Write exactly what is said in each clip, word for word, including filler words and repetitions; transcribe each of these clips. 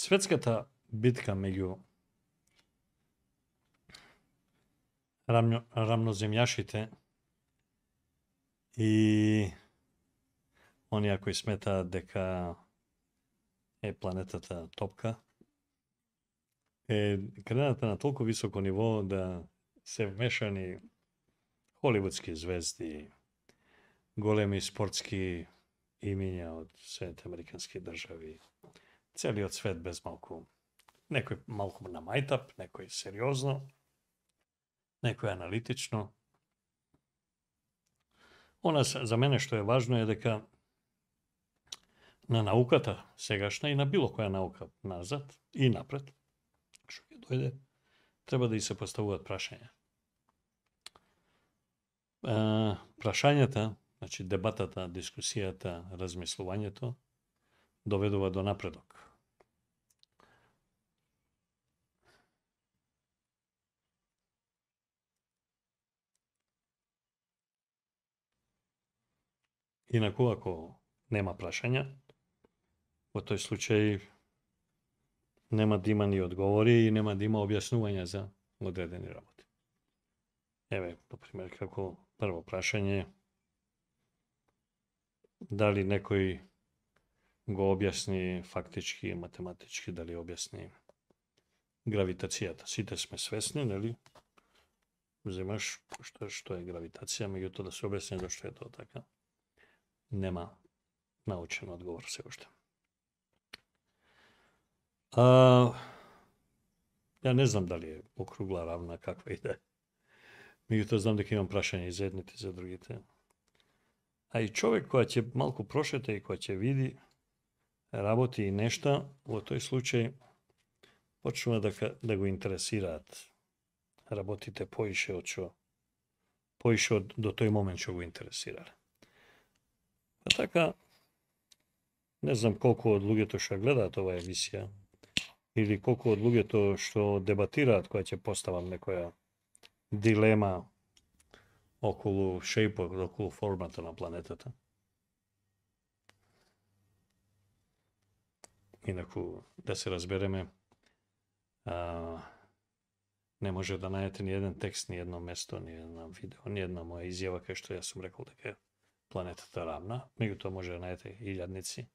Светската битка меѓу рамно, рамноземјашите и оние кои сметаат дека е планетата топка, е крената на толку високо ниво да се вмешани холивудски звезди, големи спортски имиња од Соединетите американски држави, целиот свет без малку. Некој малку на мајтап, некој сериозно, некој аналитично. Она за мене што е важно е дека на науката сегашна и на било која наука назад и напред, што ќе дојде, треба да и се поставуваат прашања. Uh, прашањата, значи дебатата, дискусијата, размислувањето доведува до напредок. Инаку, ако нема прашања, во тој случај нема да има ни одговори и нема да има објаснувања за одредени работи. Еве, например, како прво прашање, дали некој го објасни фактички, математички, дали објасни гравитацијата. Сите сме свесни, нели? Земаш што, што е гравитација, меѓутоа да се објасни зашто е тоа така. Нема научен одговор се уште. А, ја не знам дали е округла, равна, каква и да е. Меѓутоа знам дека имам прашање и за едните и за другите. А и човек која ќе малку прошета и која ќе види работи и нешта, во тој случај почнува да, да го интересираат работите поише од што поише од до тој момент што го интересирале. А така, не знам колку од луѓето што гледаат оваа емисија или колку од луѓето што дебатираат која ќе поставам некоја дилема околу шејпот, околу формата на планетата. Инаку, да се разбереме, а, не може да најдете ни еден текст, ни едно место, ни една видео, ни една моја изјава кај што јас сум рекол дека е планетата равна. Меѓутоа може да најдете илјадници,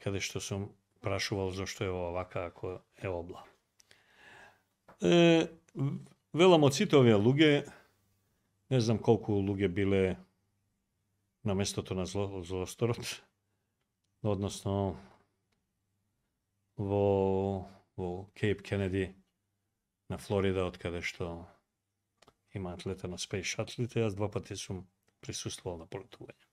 каде што сум прашувал зашто е овака ако е обла. Е, велам од сите овие луѓе, не знам колку луѓе биле на местото на зло, злосторот, односно во, во Кейп Кенеди на Флорида, од каде што имаат летено Space Shuttle-ите, јас два пати сум присуствувал на полетување.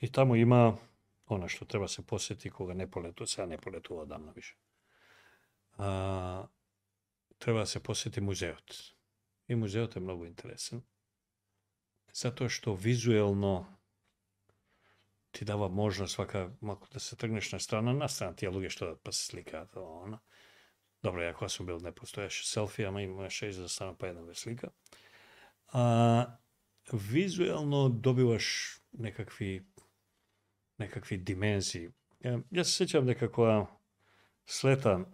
И таму има она што треба се посети кога не полетува, сега не полетува одамна више. А, треба да се посети музеот. И музеот е многу интересен, затоа што визуелно ти дава можност вака малку да се тргнеш на страна, на страна тие луѓе што да па се сликаат, она. Добро, ја кога сум бил не постоеше селфи, ама имаше и за да стана па една ве слика. А, визуелно добиваш некакви некакви димензии. Јас се сеќавам дека кога слета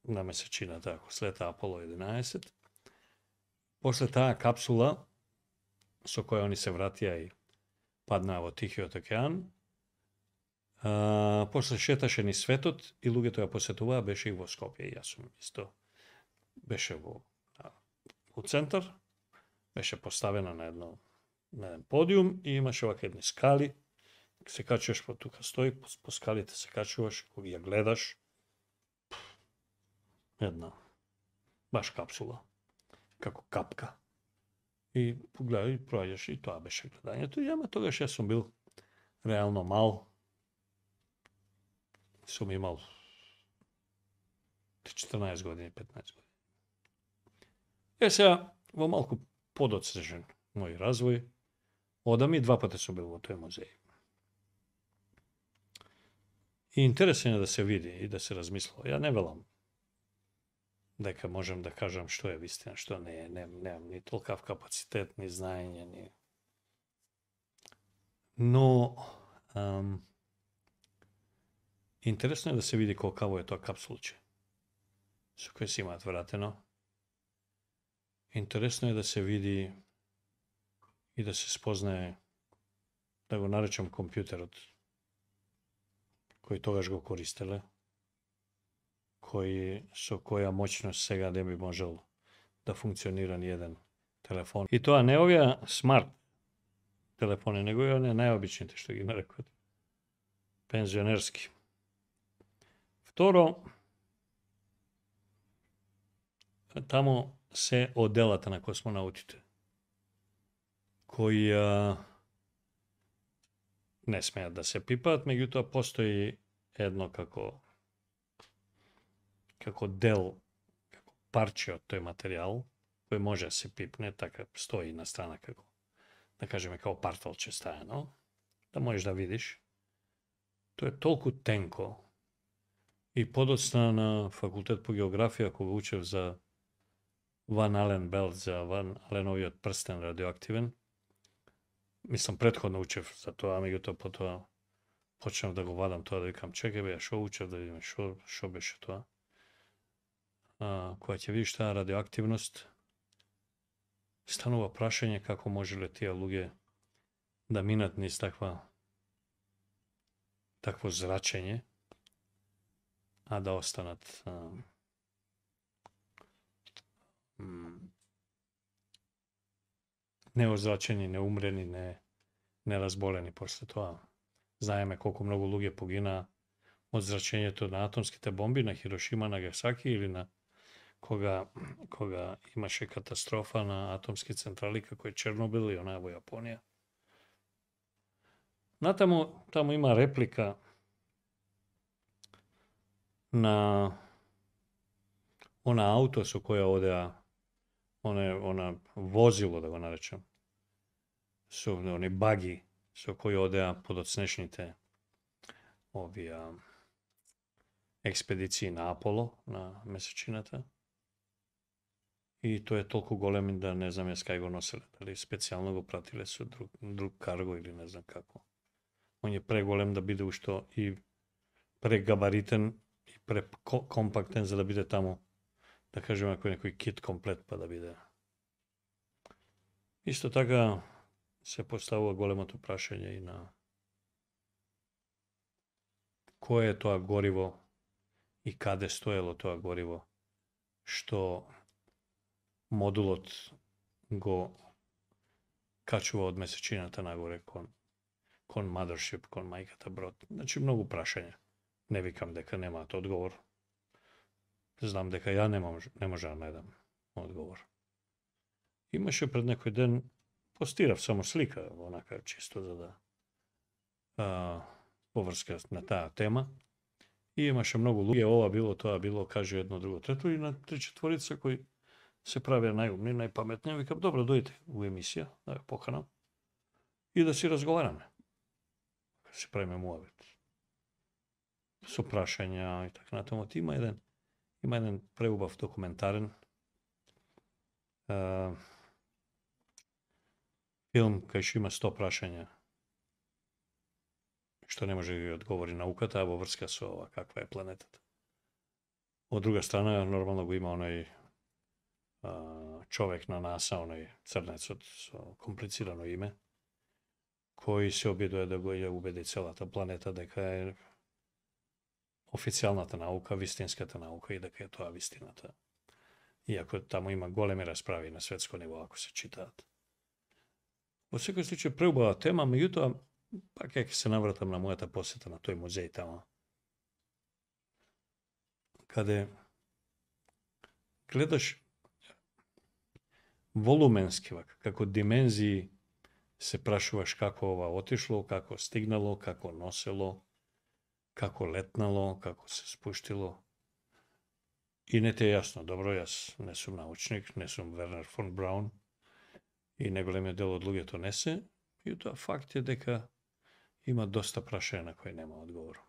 на месечината, ако слета Аполо единаесет, после таа капсула со која они се вратија и паднаа во Тихиот океан, а, после шеташе ни светот и луѓето ја посетуваа, беше и во Скопје, и јас сум исто. Беше во, во центар, беше поставена на едно на еден подиум и имаше вака едни скали, се качуваш по тука стои, по, по скалите се качуваш, кога ја гледаш, една баш капсула, како капка. И погледај, и проаѓаш, и тоа беше гледањето. И ама тогаш јас сум бил реално мал. Сум имал четрнаесет години, петнаесет години. Е сега, во малку подоцнежен мој развој, одам и два пати сум бил во тој музеј. И интересен е да се види и да се размислува. Ја не велам дека можем да кажам што е вистина, што не е, немам не, ни толкав капацитет, ни знаење, ни... Но, ам, Интересно е да се види колкаво е тоа капсулче со кој се имаат вратено. Интересно е да се види и да се спознае, да го наречам компјутерот, кој тогаш го користеле, кој со која моќност сега не би можел да функционира ни еден телефон. И тоа не овие смарт телефони, него и оние најобичните што ги нарекуват пензионерски. Второ, таму се одделата на космонаутите, кои а, не смеат да се пипаат, меѓутоа постои едно како како дел, како парче од тој материјал, кој може да се пипне, така стои на страна како, да кажеме, како парталче стајано, да можеш да видиш. Тоа е толку тенко и подоцна на факултет по географија, кога учев за Ван Ален Белт, за Ван Аленовиот прстен радиоактивен. Мислам, предходно учев за тоа, меѓутоа потоа почнав да го вадам тоа, да викам, чекај бе, шо учев, да видиме шо, шо беше тоа. А, кога ќе видиш таа радиоактивност, станува прашање како можеле тие луѓе да минат низ таква такво зрачење, а да останат а, неозрачени, неумрени, не, неразболени после тоа. Знаеме колку многу луѓе погина од зрачењето на атомските бомби на Хирошима, Нагасаки или на кога кога имаше катастрофа на атомски централи како е Чернобил и онаа во Јапонија. Натаму таму има реплика на она ауто со која одеа, она, она возило, да го наречам, со они баги со кои одеа подоцнешните овие експедиции на Аполо, на месечината. И тој е толку голем да не знам јас кај го носеле, дали специјално го пратиле со друг, друг карго или не знам како. Он е преголем да биде ушто и прегабаритен и прекомпактен за да биде таму, да кажеме, ако некој кит комплет па да биде. Исто така се поставува големото прашање и на кое е тоа гориво и каде стоело тоа гориво што модулот го качува од месечината нагоре кон кон mothership, кон мајката брод. Значи многу прашања. Не викам дека немаат одговор. Знам дека ја не може, не може да најдам одговор. Имаше пред некој ден, постирав само слика, онака чисто за да а, поврска на таа тема. И имаше многу луѓе, ова било, тоа било, каже едно, друго, трето, и на три четворица кои се правеа најумни, најпаметни. Викам, добро, дојдете у емисија, да ја поканам и да си разговараме. Да си правиме муабет. Со прашања и така натаму. Има еден Има еден преубав документарен а, филм кај што има сто прашања што не може да ги одговори науката, а во врска со ова каква е планетата. Од друга страна, нормално го има оној а, човек на НАСА, оној црнецот со комплицирано име, кој се обидува да го ја убеди целата планета дека е официјалната наука, вистинската наука и дека е тоа вистината. Иако таму има големи расправи на светско ниво, ако се читаат. Во секој случај преубава тема, меѓутоа, пак ќе се навратам на мојата посета на тој музеј тама, каде гледаш волуменски, како димензии, се прашуваш како ова отишло, како стигнало, како носело, како летнало, како се спуштило. И не те е јасно. Добро, јас не сум научник, не сум Вернер фон Браун и неголемиот дел од луѓето не се. И тоа факт е дека има доста прашања на кои нема одговор.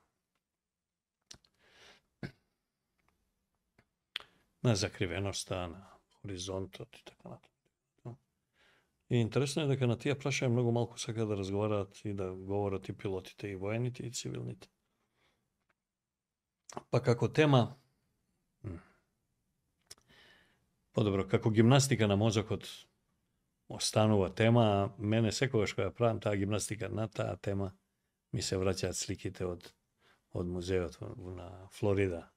На закривеноста, на хоризонтот и така натаму. И интересно е дека на тие прашања многу малку сака да разговараат и да говорат и пилотите, и воените, и цивилните. Па како тема, подобро, како гимнастика на мозокот останува тема, а мене секогаш кога правам таа гимнастика на таа тема, ми се враќаат сликите од, од музеот на Флорида,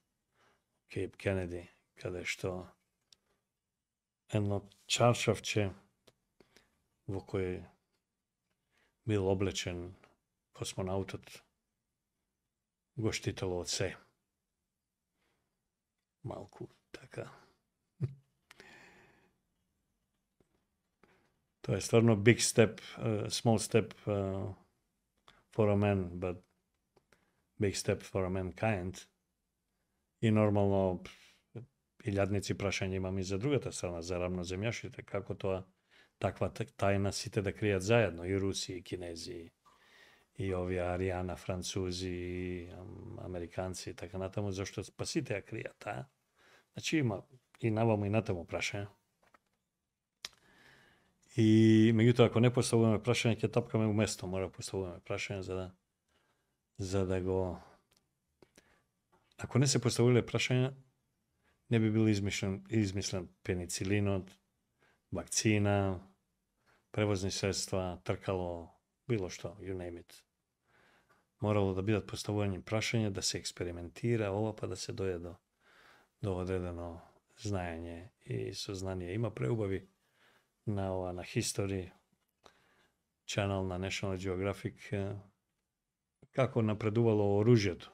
Кейп Кенеди, каде што едно чаршавче во кој бил облечен космонаутот го штитело од се. Малку така. Тоа е стварно big step, uh, small step uh, for a man, but big step for a mankind. И нормално илјадници прашања имам и за другата страна, за рамноземјашите, како тоа таква тајна сите да кријат заедно, и руси, и кинези, и овие Аријана, французи, и американци и така натаму, зашто па сите ја кријат таа. Значи има и наваму и натаму прашања. И меѓутоа, ако не поставуваме прашање, ќе тапкаме уместо, мора поставуваме прашање за да за да го ако не се поставиле прашања, не би бил измислен, измислен пеницилинот, вакцина, превозни средства, тркало, било што, you name it. Морало да бидат поставувани прашања, да се експериментира, ова па да се дојде до, до одредено знаење и сознание. Има преубави на ова, на History Channel на National Geographic, како напредувало оружјето.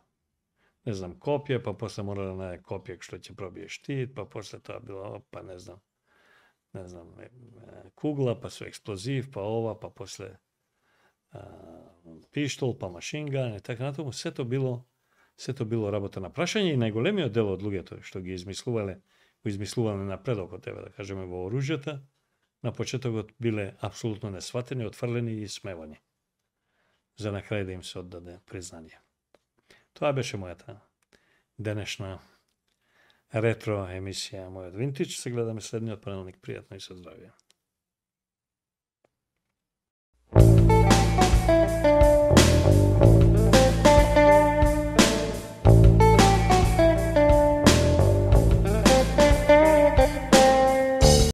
Не знам, копје, па после мора да најде копје што ќе пробие штит, па после тоа било, па не знам, не знам, кугла, па со експлозив, па ова, па после а, пиштол, па машинган и така натаму. Сето било, сето било работа на прашање и најголемиот дел од луѓето што ги измислувале, го измислувале напредокот, еве да кажеме во оружјата, на почетокот биле апсолутно несватени, отфрлени и смевани. За на крај да им се оддаде признание. Тоа беше мојата денешна ретро емисија, мојот винтич. Се гледаме следниот понеделник. Пријатно и со здравје.